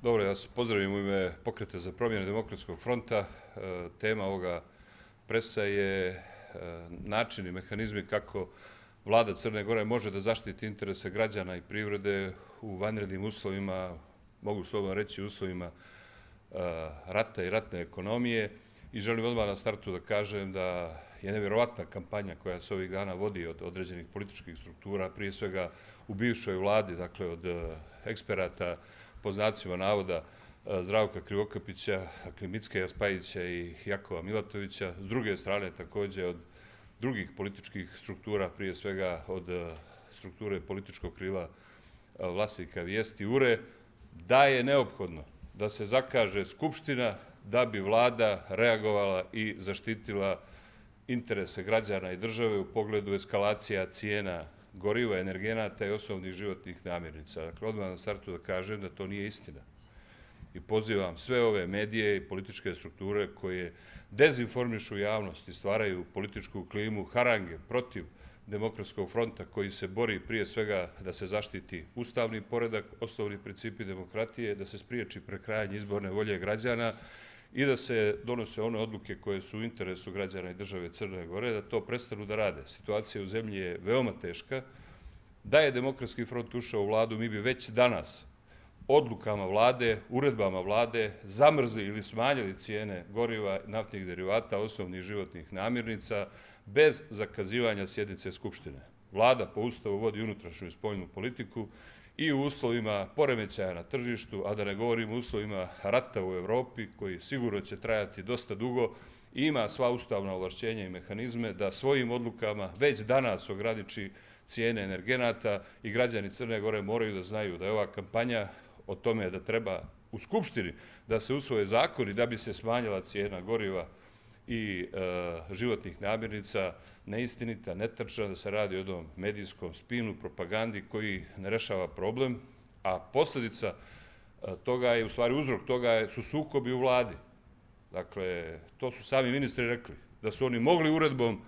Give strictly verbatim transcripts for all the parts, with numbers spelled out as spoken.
Dobro, ja se pozdravim u ime Pokreta za promjene Demokratskog fronta. Tema ovoga presa je način i mehanizmi kako vlada Crne Gore može da zaštiti interese građana i privrede u vanrednim uslovima, mogu slobodno reći uslovima rata i ratne ekonomije. I želim odmah na startu da kažem da je nevjerovatna kampanja koja se ovih dana vodi od određenih političkih struktura, prije svega u bivšoj vladi, dakle od eksperata, po znacima navoda, Zdravka Krivokapića, dakle Mickeja Spajića i Jakova Milatovića. S druge strane, također od drugih političkih struktura, prije svega od strukture političkog krila vlasnika Vijesti Ure, da je neophodno da se zakaže Skupština da bi vlada reagovala i zaštitila interese građana i države u pogledu eskalacija cijena goriva, energenata i osnovnih životnih namirnica. Dakle, odmah na startu da kažem da to nije istina. I pozivam sve ove medije i političke strukture koje dezinformišu javnost i stvaraju političku klimu harange protiv Demokratskog fronta koji se bori prije svega da se zaštiti ustavni poredak, osnovni principi demokratije, da se spriječi prekrajanje izborne volje građana i da se donose one odluke koje su u interesu građana i države Crne Gore, da to prestanu da rade. Situacija u zemlji je veoma teška. Da je Demokratski front ušao u vladu, mi bi već danas odlukama vlade, uredbama vlade zamrzli ili smanjili cijene goriva, naftnih derivata, osnovnih životnih namirnica, bez zakazivanja sjednice Skupštine. Vlada po Ustavu vodi unutrašnju i spoljnu politiku i u uslovima poremećaja na tržištu, a da ne govorim o uslovima rata u Evropi, koji sigurno će trajati dosta dugo, ima sva ustavna ovlašćenja i mehanizme da svojim odlukama već danas ograniči cijene energenata i građani Crne Gore moraju da znaju da je ova kampanja o tome da treba u Skupštini da se usvoje zakoni da bi se smanjila cijena goriva i životnih namirnica neistinita, netačna, da se radi o jednom medijskom spinu, propagandi koji ne rešava problem, a posljedica toga je, u stvari uzrok toga su sukobi u vladi. Dakle, to su sami ministri rekli, da su oni mogli uredbom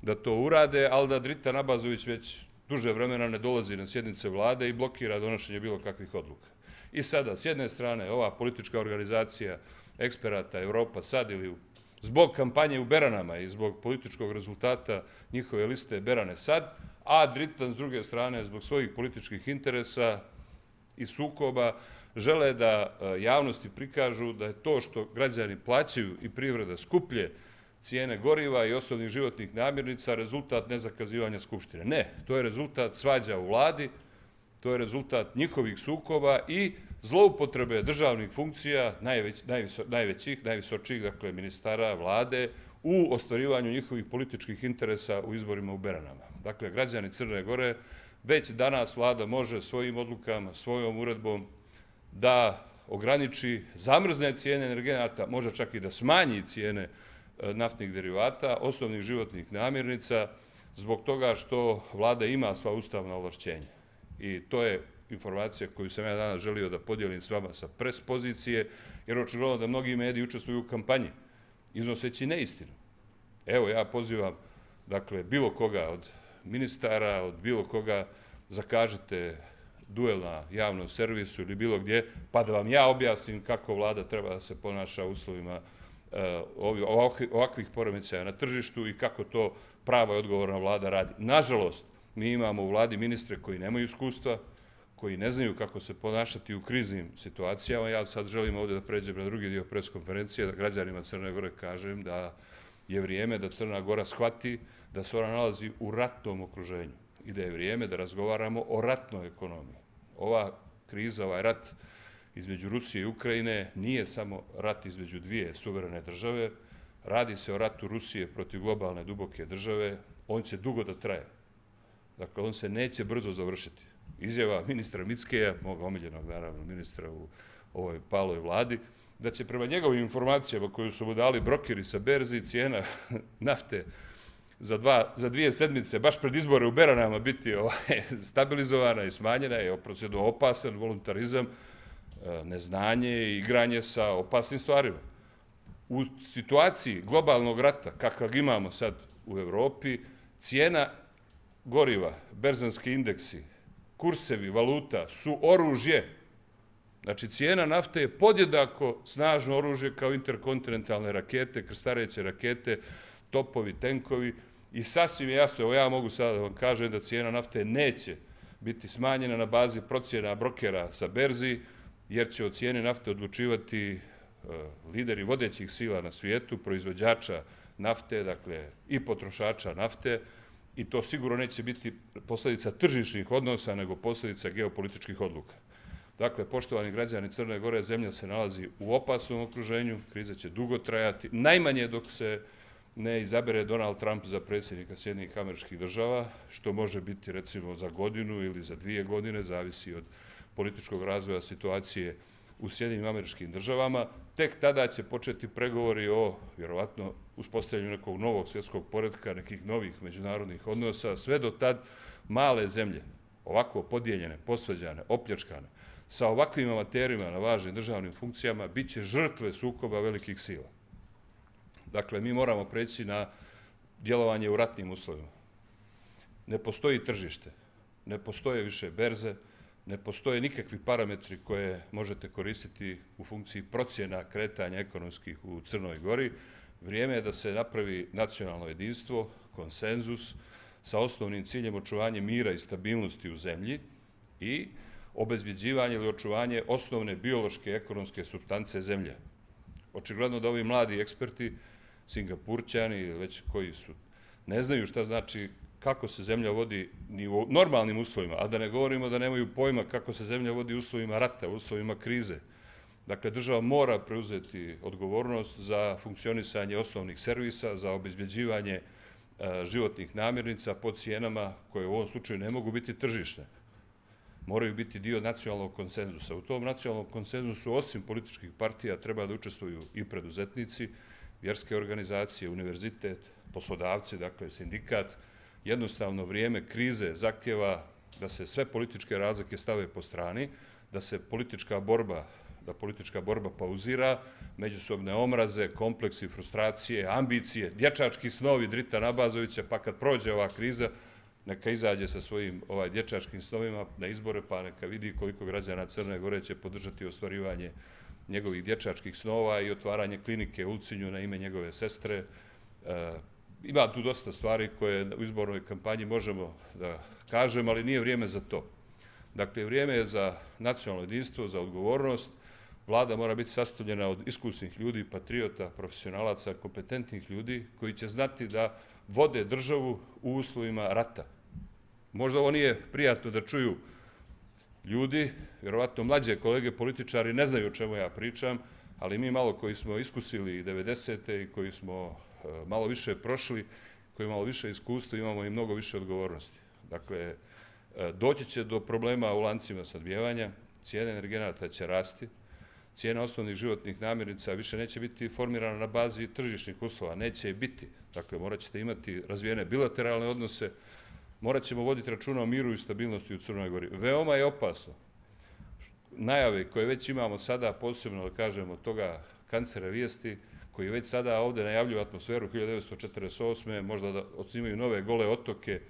da to urade, ali da Drita Nabazović već duže vremena ne dolazi na sjednice vlade i blokira donošenje bilo kakvih odluka. I sada, s jedne strane, ova politička organizacija eksperata Evropa sad ili zbog kampanje u Beranama i zbog političkog rezultata njihove liste Berane sad, a Dritan s druge strane zbog svojih političkih interesa i sukoba žele da javnosti prikažu da je to što građani plaćaju i privreda skuplje cijene goriva i osnovnih životnih namirnica rezultat nezakazivanja Skupštine. Ne, to je rezultat svađa u vladi, to je rezultat njihovih sukoba i zloupotrebe državnih funkcija, najvećih, najvisočijih, dakle, ministara, vlade, u ostvarivanju njihovih političkih interesa u izborima u Beranama. Dakle, građani Crne Gore, već danas vlada može svojim odlukama, svojom uredbom da ograniči zamrzne cijene energenata, može čak i da smanji cijene naftnih derivata, osnovnih životnih namirnica, zbog toga što vlada ima sva ustavna ovlašćenja. I to je informacija koju sam ja danas želio da podijelim s vama sa pres pozicije, jer očigledno da mnogi mediji učestvuju u kampanji, iznoseći neistinu. Evo, ja pozivam, dakle, bilo koga od ministara, od bilo koga, zakažite duel na javnom servisu ili bilo gdje, pa da vam ja objasnim kako vlada treba da se ponaša u uslovima ovakvih poremećaja na tržištu i kako to prava i odgovorna vlada radi. Nažalost, mi imamo u vladi ministre koji nemaju iskustva, koji ne znaju kako se ponašati u kriznim situacijama. Ja sad želim ovdje da pređem na drugi dio pres konferencije, da građanima Crne Gore kažem da je vrijeme da Crna Gora shvati da se ona nalazi u ratnom okruženju i da je vrijeme da razgovaramo o ratnoj ekonomiji. Ova kriza, ovaj rat između Rusije i Ukrajine nije samo rat između dvije suverene države, radi se o ratu Rusije protiv globalne duboke države, on će dugo da traje. Dakle, on se neće brzo završiti. Izjava ministra Mickeja, moga omiljenog, naravno, ministra u ovoj paloj vladi, da će prema njegovim informacijama koju su mu dali brokeri sa berzi cijena nafte za dvije sedmice, baš pred izbore u Beranama, biti stabilizovana i smanjena, je oprocedo opasan voluntarizam, neznanje i igranje sa opasnim stvarima. U situaciji globalnog rata, kakav imamo sad u Evropi, cijena goriva, berzanski indeksi, kursevi, valuta su oružje Znači, cijena nafte je podjednako snažno oružje kao interkontinentalne rakete, krstareće rakete, topovi, tenkovi i sasvim jasno, evo ja mogu sada da vam kažem da cijena nafte neće biti smanjena na bazi procjena brokera sa berzi, jer će o cijeni nafte odlučivati lideri vodećih sila na svijetu, proizvođača nafte, dakle i potrošača nafte, i to sigurno neće biti posljedica tržišnih odnosa, nego posljedica geopolitičkih odluka. Dakle, poštovani građani Crne Gore, zemlja se nalazi u opasnom okruženju, kriza će dugo trajati, najmanje dok se ne izabere Donald Trump za predsjednika Sjedinjenih Američkih Država, što može biti recimo za godinu ili za dvije godine, zavisi od političkog razvoja situacije u Sjedinjenim Američkim Državama. Tek tada će početi pregovori o, vjerovatno, uspostavljanju nekog novog svjetskog poretka, nekih novih međunarodnih odnosa. Sve do tad male zemlje, ovako podijeljene, posveđane, opljačkane, sa ovakvim amaterima na važnim državnim funkcijama, bit će žrtve sukoba velikih sila. Dakle, mi moramo preći na djelovanje u ratnim uslovima. Ne postoji tržište, ne postoje više berze, ne postoje nikakvi parametri koje možete koristiti u funkciji procjena kretanja ekonomskih u Crnoj Gori. Vrijeme je da se napravi nacionalno jedinstvo, konsenzus, sa osnovnim ciljem očuvanja mira i stabilnosti u zemlji i obezbjeđivanje ili očuvanje osnovne biološke ekonomske supstance zemlje. Očigledno da ovi mladi eksperti, Singapurćani ili već koji su, ne znaju šta znači kako se zemlja vodi ni u normalnim uslovima, a da ne govorimo da nemaju pojma kako se zemlja vodi u uslovima rata, u uslovima krize. Dakle, država mora preuzeti odgovornost za funkcionisanje osnovnih servisa, za obezbjeđivanje životnih namirnica po cijenama koje u ovom slučaju ne mogu biti tržišne. Moraju biti dio nacionalnog konsenzusa. U tom nacionalnom konsenzusu, osim političkih partija, treba da učestvuju i preduzetnici, vjerske organizacije, univerzitet, poslodavci, dakle sindikat. Jednostavno vrijeme krize zahtjeva da se sve političke razlike stave po strani, da se politička borba, da politička borba pauzira, međusobne omraze, kompleksi, frustracije, ambicije, dječački snovi Drita Nabazovića, pa kad prođe ova kriza, neka izađe sa svojim ovaj dječačkim snovima na izbore, pa neka vidi koliko građana Crne Gore će podržati ostvarivanje njegovih dječačkih snova i otvaranje klinike u Ulcinju na ime njegove sestre. Ima tu dosta stvari koje u izbornoj kampanji možemo da kažem, ali nije vrijeme za to. Dakle, vrijeme je za nacionalno jedinstvo, za odgovornost. Vlada mora biti sastavljena od iskusnih ljudi, patriota, profesionalaca, kompetentnih ljudi koji će znati da vode državu u uslovima rata. Možda ovo nije prijatno da čuju ljudi, vjerovatno mlađe kolege političari ne znaju o čemu ja pričam, ali mi malo koji smo iskusili i devedesete i koji smo malo više prošli, koji malo više iskustva, imamo i mnogo više odgovornosti. Dakle, doći će do problema u lancima snabdijevanja, cijene energenata će rasti, cijena osnovnih životnih namirnica više neće biti formirana na bazi tržišnih uslova, neće biti. Dakle, morat ćete imati razvijene bilateralne odnose, morat ćemo voditi računa o miru i stabilnosti u Crnoj Gori. Veoma je opasno. Najave koje već imamo sada, posebno da kažemo toga kancera vijesti, koji već sada ovdje najavljuju atmosferu hiljadu devetsto četrdeset osme. možda da odsnimaju nove gole otoke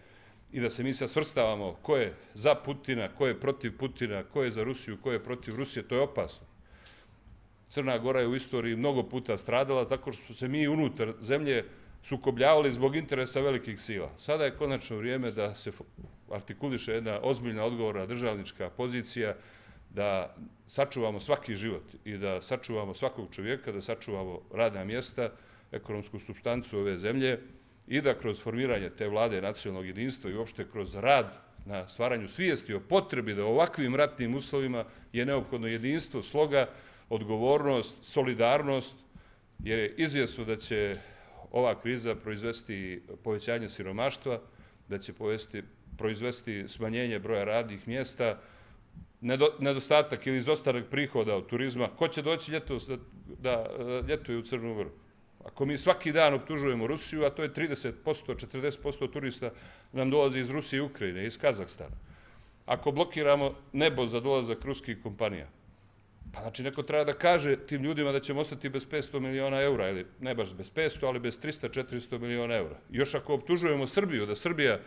i da se mi sad svrstavamo ko je za Putina, ko je protiv Putina, ko je za Rusiju, ko je protiv Rusije, to je opasno. Crna Gora je u istoriji mnogo puta stradala tako što smo se mi unutar zemlje sukobljavali zbog interesa velikih sila. Sada je konačno vrijeme da se artikuliše jedna ozbiljna odgovorna državnička pozicija, da sačuvamo svaki život i da sačuvamo svakog čovjeka, da sačuvamo radna mjesta, ekonomsku supstancu ove zemlje i da kroz formiranje te vlade nacionalnog jedinstva i uopšte kroz rad na stvaranju svijesti o potrebi da u ovakvim ratnim uslovima je neophodno jedinstvo, sloga, odgovornost, solidarnost, jer je izvjesno da će ova kriza proizvesti povećanje siromaštva, da će proizvesti smanjenje broja radnih mjesta, nedostatak ili izostanak prihoda od turizma. Ko će doći ljetos da ljetuje u Crnu Goru? Ako mi svaki dan optužujemo Rusiju, a to je trideset posto, četrdeset posto turista nam dolazi iz Rusije i Ukrajine, iz Kazahstana. Ako blokiramo nebo za dolazak ruskih kompanija, pa znači neko treba da kaže tim ljudima da ćemo ostati bez petsto miliona eura, ili ne baš bez petsto, ali bez trista do četiristo miliona eura. Još ako optužujemo Srbiju, da Srbija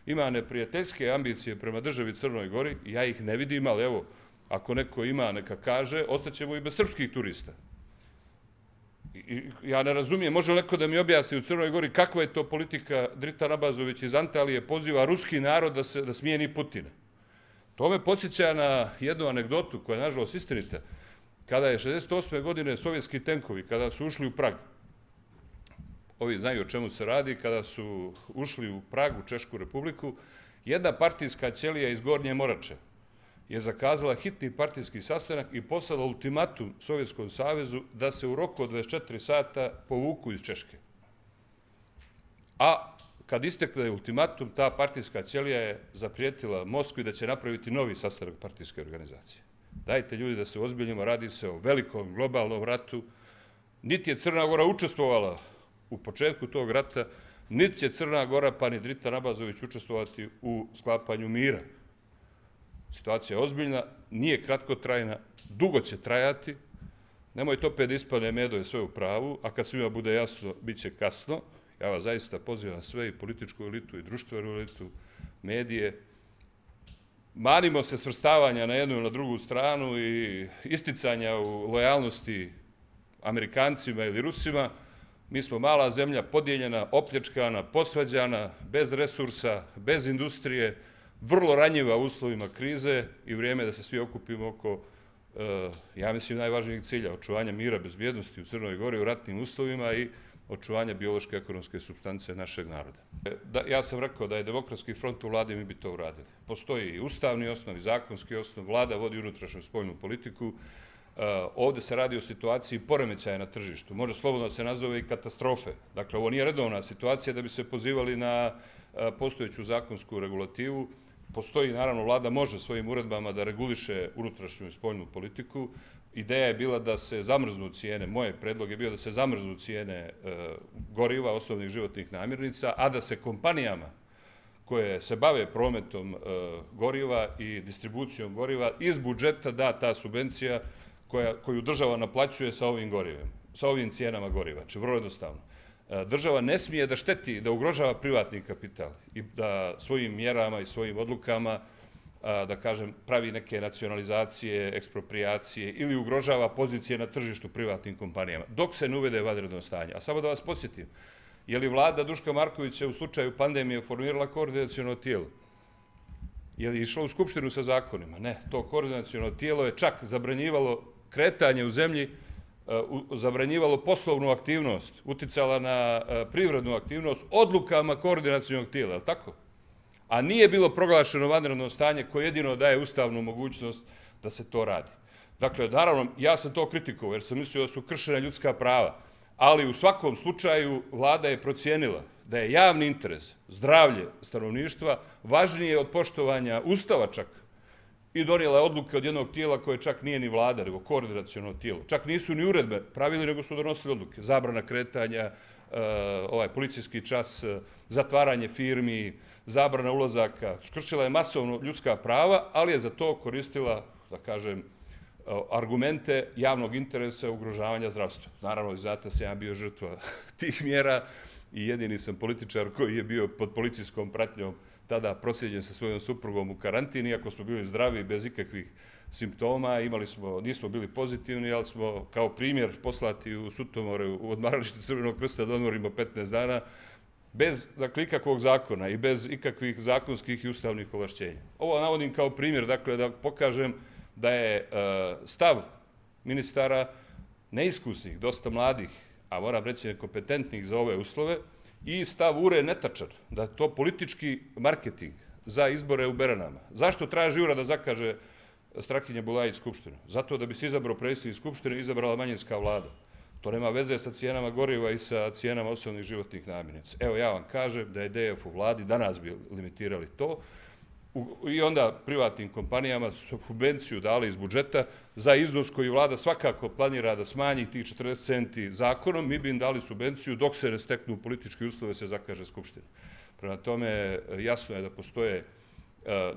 ima neprijateljske ambicije prema državi Crnoj Gori, ja ih ne vidim, ali evo, ako neko ima, neka kaže, ostaćemo i bez srpskih turista. I ja ne razumijem, može neko da mi objasni u Crnoj Gori kakva je to politika Dritan Abazović iz Antalije poziva ruski narod da, se, da smijeni Putina. To me podsjeća na jednu anegdotu koja je nažalost istinita. Kada je šezdeset osme godine sovjetski tenkovi, kada su ušli u Prag, ovi znaju o čemu se radi, kada su ušli u Prag, u Češku republiku, jedna partijska ćelija iz Gornje Morače je zakazala hitni partijski sastanak i poslala ultimatum Sovjetskom savezu da se u roku od dvadeset četiri sata povuku iz Češke. A kad istekne ultimatum, ta partijska ćelija je zaprijetila Moskvi da će napraviti novi sastanak partijske organizacije. Dajte ljudi da se ozbiljimo, radi se o velikom globalnom ratu. Niti je Crna Gora učestvovala u početku tog rata, niti će Crna Gora pa ni Dritan Abazović učestvovati u sklapanju mira. Situacija je ozbiljna, nije kratkotrajna, dugo će trajati. Nemojte opet da ispane Medo je sve u pravu, a kad svima bude jasno, bit će kasno. Ja vas zaista pozivam sve, i političku elitu, i društvenu elitu, medije. Manimo se svrstavanja na jednu i na drugu stranu i isticanja u lojalnosti Amerikancima ili Rusima. Mi smo mala zemlja, podijeljena, opljačkana, posvađana, bez resursa, bez industrije, vrlo ranjiva u uslovima krize i vrijeme da se svi okupimo oko, ja mislim, najvažnijeg cilja, očuvanja mira, bezbjednosti u Crnoj Gori u ratnim uslovima i očuvanja biološke ekonomske supstance našeg naroda. Ja sam rekao da je Demokratski front u vladi, mi bi to uradili. Postoji i ustavni osnov, i zakonski osnov, vlada vodi unutrašnju spoljnu politiku. Ovde se radi o situaciji poremećaja na tržištu. Može slobodno se nazove i katastrofe. Dakle, ovo nije redovna situacija da bi se pozivali na postojeću zakonsku regulativu. Postoji, naravno, vlada može svojim uredbama da reguliše unutrašnju i spoljnu politiku. Ideja je bila da se zamrznu cijene, moj predlog je bio da se zamrznu cijene goriva, osnovnih životnih namirnica, a da se kompanijama koje se bave prometom goriva i distribucijom goriva iz budžeta da ta subvencija koju država naplaćuje sa ovim gorivem, sa ovim cijenama goriva. Znači, vrlo jednostavno. Država ne smije da šteti, da ugrožava privatni kapital i da svojim mjerama i svojim odlukama, da kažem, pravi neke nacionalizacije, ekspropriacije ili ugrožava pozicije na tržištu privatnim kompanijama, dok se ne uvede vanredno stanje. A samo da vas podsjetim, je li vlada Duška Markovića u slučaju pandemije formirala koordinaciono tijelo? Je li išla u Skupštinu sa zakonima? Ne, to koordinaciono tijelo je čak zabranjivalo kretanje u zemlji, zabranjivalo poslovnu aktivnost, uticala na privrednu aktivnost odlukama koordinacionog tijela, je li tako? A nije bilo proglašeno vanredno stanje koje jedino daje ustavnu mogućnost da se to radi. Dakle, naravno, ja sam to kritikovao jer sam mislio da su kršena ljudska prava, ali u svakom slučaju vlada je procijenila da je javni interes, zdravlje stanovništva, važnije od poštovanja ustava čak i donijela je odluke od jednog tijela koje čak nije ni vlada, nego koordinaciono tijelo. Čak nisu ni uredbe pravili, nego su donosili odluke. Zabrana kretanja, ovaj policijski čas, zatvaranje firmi, zabrana ulazaka. Kršila je masovno ljudska prava, ali je za to koristila, da kažem, argumente javnog interesa ugrožavanja zdravstva. Naravno, znate, sam ja bio žrtva tih mjera i jedini sam političar koji je bio pod policijskom pratnjom tada proslijeđen sa svojom suprugom u karantini, iako smo bili zdravi bez ikakvih simptoma, imali smo, nismo bili pozitivni, ali smo kao primjer poslati u Sutomore, u odmaralište Crvenog krsta da odmorimo petnaest dana, bez, dakle, ikakvog zakona i bez ikakvih zakonskih i ustavnih ovlašćenja. Ovo navodim kao primjer, dakle, da pokažem da je stav ministara neiskusnih, dosta mladih, a moram reći nekompetentnih za ove uslove, i stav U R E netačan, da je to politički marketing za izbore u Beranama. Zašto traži U R A da zakaže Strahinja Bulajić Skupštinu? Zato da bi se izabrao predsjednik Skupštine i izabrala manjinska vlada. To nema veze sa cijenama goriva i sa cijenama osnovnih životnih namirnica. Evo, ja vam kažem da je D F u vladi, danas bi limitirali to, i onda privatnim kompanijama subvenciju dali iz budžeta za iznos koji vlada svakako planira da smanji tih četrdeset centi zakonom, mi bi im dali subvenciju dok se ne steknu politički uslove se zakaže Skupština. Prema tome, jasno je da postoje,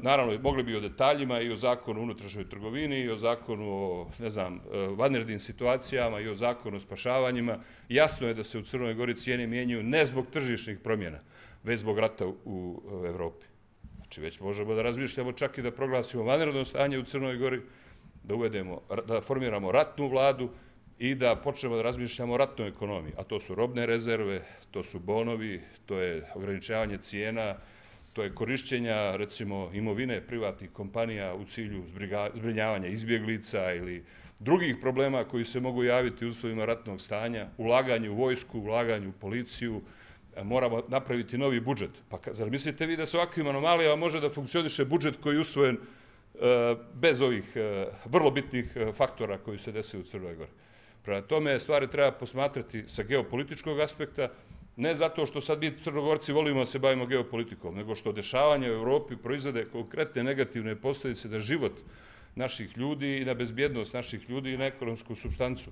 naravno, mogli bi o detaljima i o zakonu o unutrašnjoj trgovini i o zakonu o, ne znam, vanrednim situacijama i o zakonu o spašavanjima. Jasno je da se u Crnoj Gori cijene mijenjaju ne zbog tržišnih promjena, već zbog rata u Evropi. Znači, već možemo da razmišljamo čak i da proglasimo vanredno stanje u Crnoj Gori da uvedemo, da formiramo ratnu vladu i da počnemo da razmišljamo o ratnoj ekonomiji, a to su robne rezerve, to su bonovi, to je ograničavanje cijena, to je korišćenja, recimo, imovine privatnih kompanija u cilju zbrinjavanja izbjeglica ili drugih problema koji se mogu javiti u uslovima ratnog stanja, ulaganje u vojsku, ulaganje u policiju, moramo napraviti novi budžet. Pa zar mislite vi da sa ovakvim anomalijama može da funkcioniše budžet koji je usvojen bez ovih vrlo bitnih faktora koji se desaju u Crnoj Gori? Prema tome, stvari treba posmatrati sa geopolitičkog aspekta, ne zato što sad mi Crnogorci volimo da se bavimo geopolitikom, nego što dešavanje u Evropi proizvode konkretne negativne posljedice na život naših ljudi i na bezbjednost naših ljudi i na ekonomsku supstancu.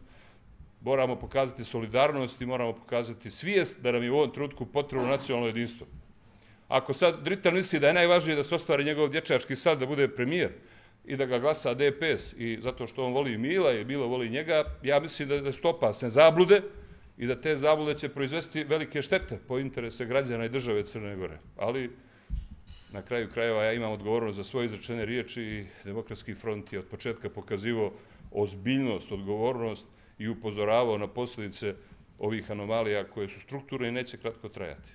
Moramo pokazati solidarnost i moramo pokazati svijest da nam je u ovom trenutku potrebno nacionalno jedinstvo. Ako sad Dritan misli da je najvažnije da se ostvari njegov dječački sad, da bude premijer i da ga glasa D P S i zato što on voli Mila i Milo voli njega, ja mislim da su to opasne zablude i da te zablude će proizvesti velike štete po interese građana i države Crne Gore. Ali na kraju krajeva ja imam odgovornost za svoje izrečene riječi i Demokratski front je od početka pokazivao ozbiljnost, odgovornost i upozoravao na posljedice ovih anomalija koje su strukturne i neće kratko trajati.